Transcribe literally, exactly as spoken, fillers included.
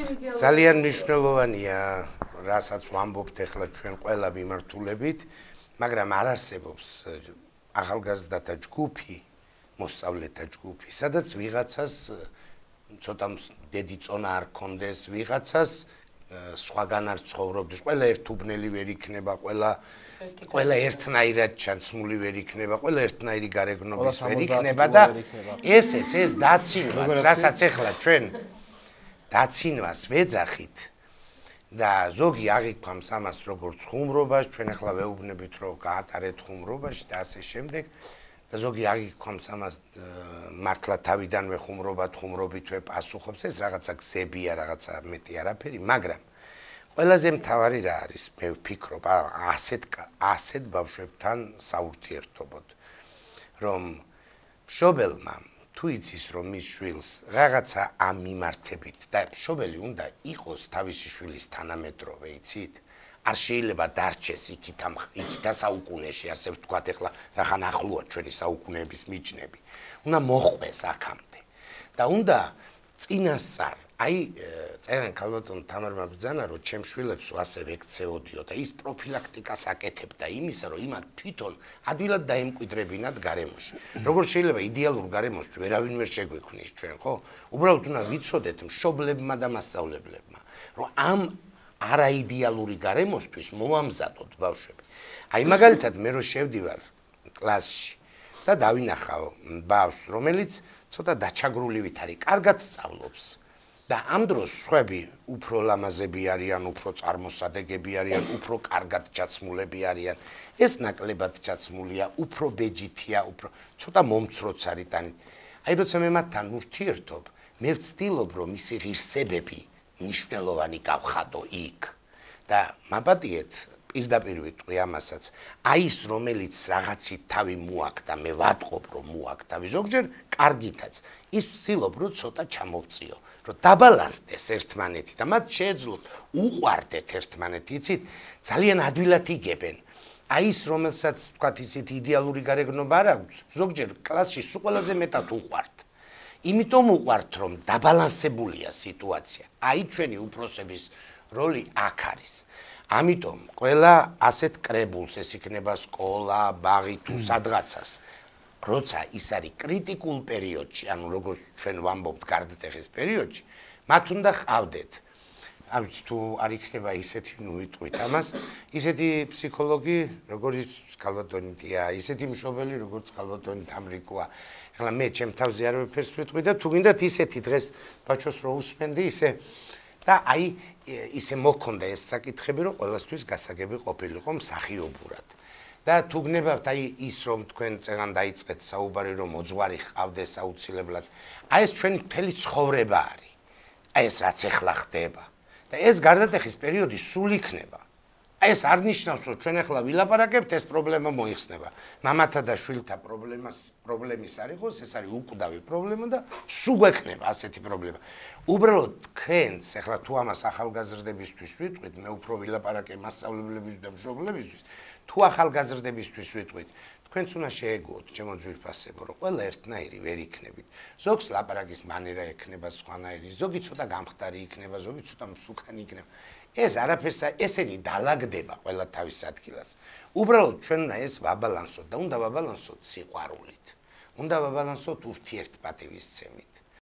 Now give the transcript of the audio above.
ძალიან მნიშვნელოვანია, რასაც ვამბობთ ახლა ჩვენ ყველა მიმართულებით, მაგრამ არ არსებობს ახალგაზრდათა ჯგუფი, მოსწავლეთა ჯგუფი, სადაც ვიღაცას ცოტა დიდი წონა არ კონდეს, ვიღაცას სხვაგან არ ცხოვრობდეს, ყველა ერთუბნელი ვერ იქნება, ყველა ყველა ერთნაირად ჩაცმული ვერ იქნება, ყველა ერთნაირი გარეგნობის ვერ იქნება და ესეც ეს დაცინვაც, რასაც ახლა ჩვენ დაცინვას ვეძახით და ზოგი აღიქვამს ამას როგორც ხუმრობას, ჩვენ ახლა ვეუბნებით რომ გაატარეთ ხუმრობაში და ასე შემდეგ და ზოგი აღიქვამს ამას მართლა თავიდანვე ხუმრობად, ხუმრობით ვეპასუხობს, ეს რაღაცა გზებია, რაღაცა მეტი არაფერი, მაგრამ ყველაზე მთავარი რა არის, მე ვფიქრობ, ასეთ ასეთ ბავშვებთან საურთიერთობოდ, რომ მშობელმა თუ იცის რომ მის შვილს რაღაცა ამ მიმართებით და მშობელი უნდა იყოს თავისი შვილის თანამედროვე, იცით? არ შეიძლება დარჩეს იქით ამ იქით საუკუნეში, ასე ვთქვათ, ახლა რახან ახლოა ჩვენი საუკუნეების მიჯნები. უნდა მოხვდეს აქამდე და უნდა წინასწარ აი წერენ ქალბატონ თამარმა ბრძანა რომ ჩემ შვილებს ასე ვექცეოდიო და ის პროფილაქტიკას აკეთებდა იმისა რომ იმათ თვითონ ადვილად დაემკვიდრებინათ გარემოში. როგორ შეიძლება იდეალურ გარემოში ვერავინ ვერ შეგვექმნის ჩვენ, ხო? უბრალოდ უნდა ვიცოდეთ მშობლებმა და მასწავლებლებმა, რომ ამ არაიდეალური გარემოსთვის მოვამზადოთ ბავშვები. აი მაგალითად მე რო შევდივარ კლასში და დავინახავ ბავშვს, რომელიც ცოტა დაჩაგრულივით არის, კარგად სწავლობს. და ამ დროს სხვები უფრო ლამაზები არიან, უფრო წარმოსადეგები არიან, უფრო კარგად ჩაცმულები არიან. ეს ნაკლებად ჩაცმულია, უფრო ბეჯითია, უფრო ცოტა მომცროც არის და აი როცა მე მათთან ურთიერთობ, მე ვცდილობ რომ მისი ღირსებები მნიშვნელოვანი გავხადო იქ და მაპატიეთ პირდაპირ ვიტყვი ამასაც. აი ის რომელიც რაღაცით თავი მოაქვს და მე ვატყობ რომ მოაქვს თავი ზოგჯერ კარგითაც ის ვცდილობ რომ ცოტა ჩამოვწიო. რომ დაბალანსდეს ერთმანეთი და მათ შეეძლოთ უყვარდეთ ერთმანეთი, იცით? ძალიან ადვილად იგებენ. აი ის რომელსაც თქვათ იცით იდეალური გარეგნობა არ აქვს, ზოგჯერ კლასში სულ ყველაზე მეტად უყვართ. იმიტომ უყვართ რომ დაბალანსებულია სიტუაცია. აი ჩვენი უფროსების როლი აქ არის. ამიტომ ყველა ასეთ კრებულს, ეს იქნება სკოლა, ბაღი თუ სადღაცას, როცა ის არის კრიტიკულ პერიოდში, ანუ როგორც ჩვენ ვამბობთ გარდატეხის პერიოდში, მათ უნდა ყავდეთ. არ ვიცი თუ არ იქნება ისეთი, ნუ ვიტყვით ამას, ისეთი ფსიქოლოგი, როგორც ქალბატონი დია, ისეთი მშობელი, როგორც ქალბატონი თამრიკოა. ახლა მე ჩემ თავზე არ ვეფერს ვიტყვი და თუ გინდათ ისეთი დღეს ბაჩოს რო უსმენდი, ისე და აი ისე მოქონდა ეს საკითხები, რომ ყველასთვის გასაგები ყოფილიყო მსახიობურად. და თუ გნებავთ აი ის რომ თქვენ წეგან დაიწყეთ საუბარი რომ მოძღვარი ხავდეს აუცილებლად, აი ეს ჩვენი მთელი ცხოვრება არის. აი ეს რაც ახლა ხდება და ეს გარდატეხის პერიოდი სულ იქნება. აი ეს არ ნიშნავს რომ ჩვენ ახლა ვილაპარაკებთ ეს პრობლემა მოიხსნება. მამათა და შვილთა პრობლემას პრობლემის არ იყოს, ეს არის უკვდავი პრობლემა და სულ გვექნება ასეთი პრობლემა. უბრალოდ თქვენს ახლა თუ ამას ახალგაზრდებისთვის ვიტყვით, მე უფრო ვილაპარაკე მასწავლებლებისთვის და მშობლებისთვის, თუ ახალგაზრდებისთვის ვიტყვით, თქვენც უნდა შეეგუოთ ჩემო ძვირფასებო, რომ ყველა ერთნაირი ვერ იქნებით. ზოგს ლაპარაკის მანერა ექნება სხვანაირი, ზოგი ცოტა გამხდარი იქნება, ზოგი ცოტა მსუქანი იქნება. ეს არაფერს ესენი დალაგდება ყველა თავის ადგილას. უბრალოდ ჩვენ უნდა ეს ვაბალანსოთ და უნდა ვაბალანსოთ სიყვარულით. უნდა ვაბალანსოთ ურთიერთპატივისცემით.